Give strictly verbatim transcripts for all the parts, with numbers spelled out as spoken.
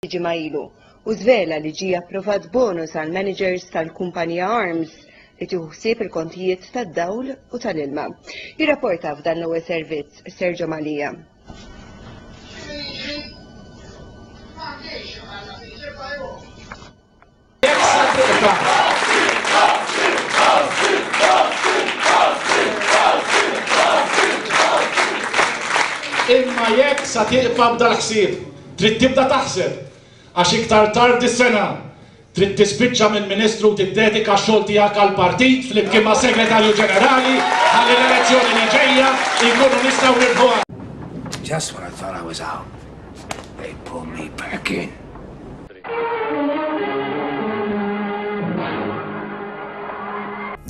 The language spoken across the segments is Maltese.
Ġimgħa ilu u żvela li ġie approvat bonus għal managers tal-kumpanija Arms li tieħu ħsieb il-kontijiet tad-dawl u tal-ilma. Jirrapporta f'dan l-ewwel servizz Sergio Malija. Imma jekk sa tieqfa b'dal-ħsieb, trid tibda taħseb, għax iktar tard is-sena trid tispiċċa minn ministru u tiddedika x-xogħol tiegħek għall-partit flimkien ma' segretarju ġenerali ħalli l-elezzjoni li ġejja jkunu nistgħu nirbħuha. Just when I thought I was out, they pulled me back in.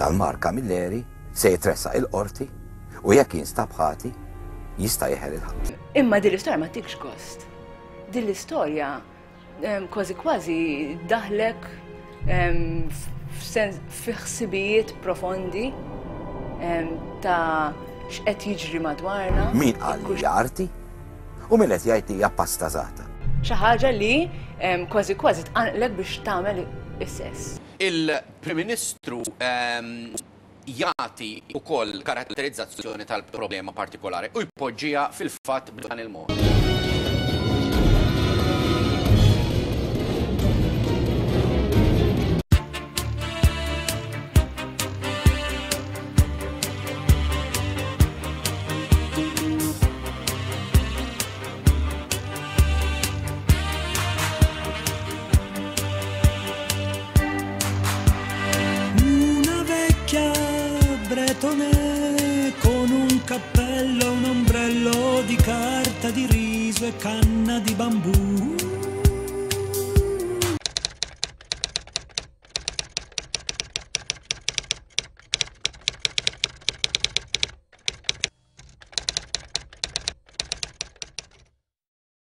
Dan Mark Camilleri se jitressaq il-qorti u jekk jinstab ħati jista' jeħel il-ħabs. Imma din l-istorja ma tikx gost. Din l-istorja kważi kważi daħlek fi ħsibijiet profondi ta' x'qed jiġri madwarna. Min qal li hija arti u min qed jgħid li hija pastażata. Xi ħaġa li kważi kważi tqanqlek biex tagħmel is-sess. Il-Prim Ministru jagħti wkoll karatterizzazzjoni tal-problema partikolari u jpoġġiha fil-fatt b'dan il-mod. Bretone con un cappello, un ombrello di carta di riso e canna di bambù.